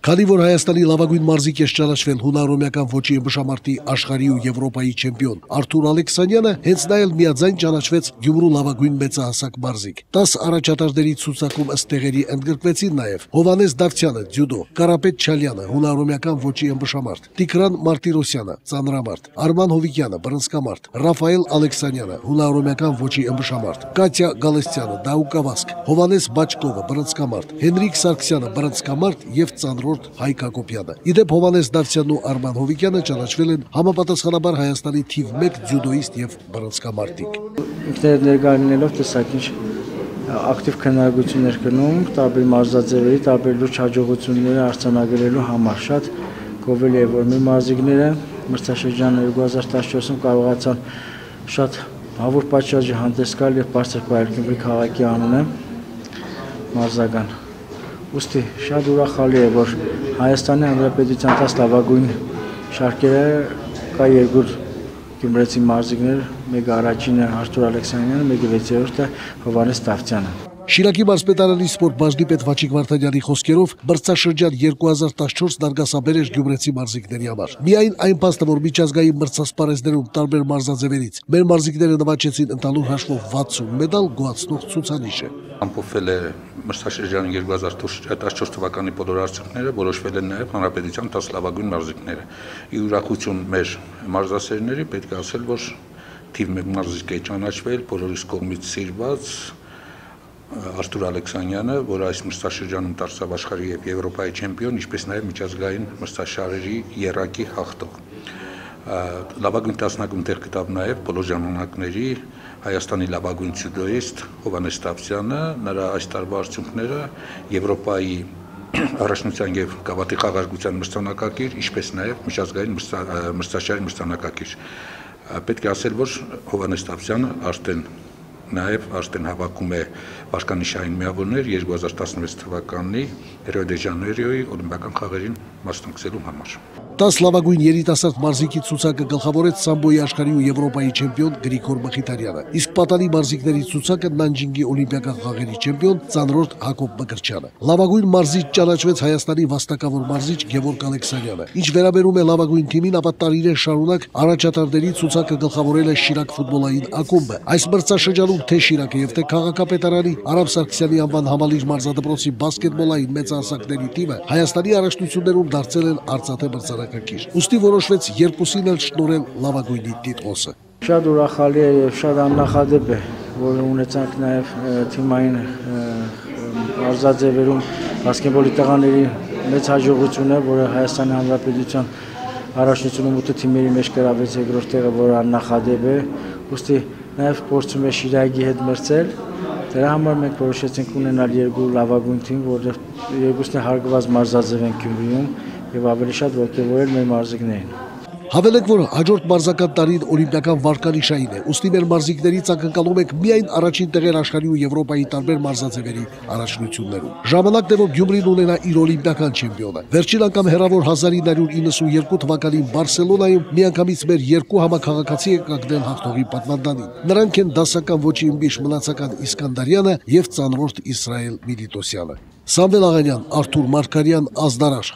Քանի որ Հայաստանի լավագույն մարզիկ է ճանաչվել հունարոմեական ոճի ըմբշամարտի աշխարհի ու Եվրոպայի չեմպիոն Արթուր Ալեքսանյանը, հենց նա էլ միաձայն ճանաչվեց Գյումրու լավագույն մեծահասակ մարզիկ։ 10 առաջատարների ցուցակում ըստ տեղերի ընդգրկվեցին նաև Հովհաննես Դավթյանը ձյուդո, Կարապետ Չալյանը հունարոմեական ոճի ըմբշամարտ, Տիգրան Մարտիրոսյանը ծանրամարտ, Արման Հովիկյանը բռնցքամարտ, Ռաֆայել Ալեքսանյանը հունարոմեական ոճի ըմբշամարտ, Կատյա Գալստյանը դահուկավազք, Հովհաննես Բաչկովը բռնցքամարտ, Հենրիկ Սարգսյանը բռնցքամարտ եւ ծանրորդ Հայկ Հակոբյանը։ Իդեպ Հովհաննես Դավթյանն ու Արման Հովիկյանը ճանաչվել են համապատասխանաբար Հայաստանի թիվ 1 ձյուդոիստ եւ բռնցքամարտիկ։ Ինքներդ ներկայացնելով տեսակիչ ակտիվ քննարկություններ կնում տարբեր մարզաձևերի, տարբեր լուրջ հաջողությունները արձանագրելու համար։ Շատ գովելի է, որ մեր մարզիկները մրցաշրջանը 2014-ում կարողացան շատ հավուր պատշաճի հանդես գալ եւ բարձր պահել Գյումրի քաղաքի անունը մարզական։ Ուստի շատ ուրախալի է, որ Հայաստանի Հանրապետության 10 լավագույն շարքերը կա երկու գյումրեցի մարզիկներ, մեկը առաջինը Արթուր Ալեքսանյանը, մեկը 6-րդը Հովհաննես Դավթյանը։ Շիրակի մարզպետարանի սպորտ բաժնի պետ Վաչիկ Վարդանյանի խոսքերով մրցաշրջան 2014 դարգասաբեր էր գյումրեցի մարզիկների համար։ Միայն այն փաստը, որ միջազգային մրցասպարեզներում տարբեր մարզաձևերից մեր մարզիկները նվաճեցին ընդհանուր հաշվով 60 մեդալ, գոհացնող ցուցանիշ է։ Ամփոփվել է մրցաշրջանի 2014 թվականի բոլոր արդյունքները, որոշվել են նաև հանրապետության 10 լավագույն մարզիկները։ Ի ուրախություն մեր մարզասերների պետք է ասել, որ թիվ 1 մարզիկ է ճանաչվել, բոլորիս կողմից սիրված Արթուր Ալեքսանյանը, որը այս մրցաշրջանում դարձավ աշխարհի եւ Եվրոպայի չեմպիոն, ինչպես նաև միջազգային մրցաշարերի եռակի հաղթող։ Լավագույն 10-ում տեղ գտավ նաև բոլոր ժամանակների Հայաստանի լավագույն ձյուդոիստ Հովհաննես Դավթյանը, նրա այս տարվա արդյունքները Եվրոպայի առաջնության եւ գավաթի խաղարկության մրցանակակիր, ինչպես նաև միջազգային մրցաշարի մրցանակակիր։ Պետք է ասել, որ Հովհաննես Դավթյանը արդեն հավաքում է վարկանիշային միավորներ 2016 թվականի Ռիո դե Ժանեյրոյի օլիմպիական խաղերին մասնակցելու համար։ 10 լավագույն երիտասարդ մարզիկի ցուցակը գլխավորեց սամբոյի աշխարհի ու Եվրոպայի չեմպիոն Գրիգոր Մխիթարյանը, իսկ պատանի մարզիկների ցուցակը Նանջինգի օլիմպիական խաղերի չեմպիոն ծանրորդ Հակոբ Մկրտչյանը։ Լավագույն մարզիչ ճանաչվեց Հայաստանի վաստակավոր մարզիչ Գևորգ Ալեքսանյանը։ Ինչ վերաբերում է լավագույն թիմին, ապա տարիներ շարունակ առաջատարների ցուցակը գլխավորել է Շիրակ ֆուտբոլային ակումբը։ Այս մրցաշրջանում թե Շիրակը եւ թե Քաղաքապետարանի Արամ Սարգսյանի անվան համալիր մարզադպրոցի բասկետբոլային մեծահասակների թիմը Հայաստանի առաջնություններում դարձել են արծաթե մրցանակակիր։ Ուստի որոշվեց երկուսին էլ շնորհել լավագույնի տիտղոսը։ Շատ ուրախալի է եւ շատ աննախադեպ է, որ ունեցանք նաեւ թիմային մարզաձևերում բասկետբոլի տղաների մեծ հաջողությունը, որը Հայաստանի Հանրապետության առաջնությունում 8 թիմերի մեջ գրավեց երկրորդ տեղը, որը աննախադեպ է։ Ուստի նաև փորձում է Շիրակի հետ մրցել։ Դրա համար մենք որոշեցինք ունենալ երկու լավագույն թիմ, որտեղ երկուսն էլ հարգված մարզաձև են Գյումրիում եւ ավելի շատ ողջևորել մեր մարզիկներին։ Հավելեք, որ հաջորդ մարզական տարին օլիմպիական վարկանիշային է, ուստի մեր մարզիկներից ակնկալում ենք միայն առաջին տեղեր աշխարհի ու Եվրոպայի տարբեր մարզաձևերի առաջնություններում։ Ժամանակն է, որ Գյումրին ունենա իր օլիմպիական չեմպիոնը։ Վերջին անգամ հեռավոր 1992 թվականին Բարսելոնայում միանգամից մեր երկու համաքաղաքացի է կանգնել հաղթողի պատվանդանին։ Նրանք են դասական ոճի ըմբիշ Մնացական Իսկանդարյանը եւ ծանրորդ Իսրայել Միլիտոսյանը։ Սամվել Աղանյան, Արթուր Մարգարյան, Ազդարար։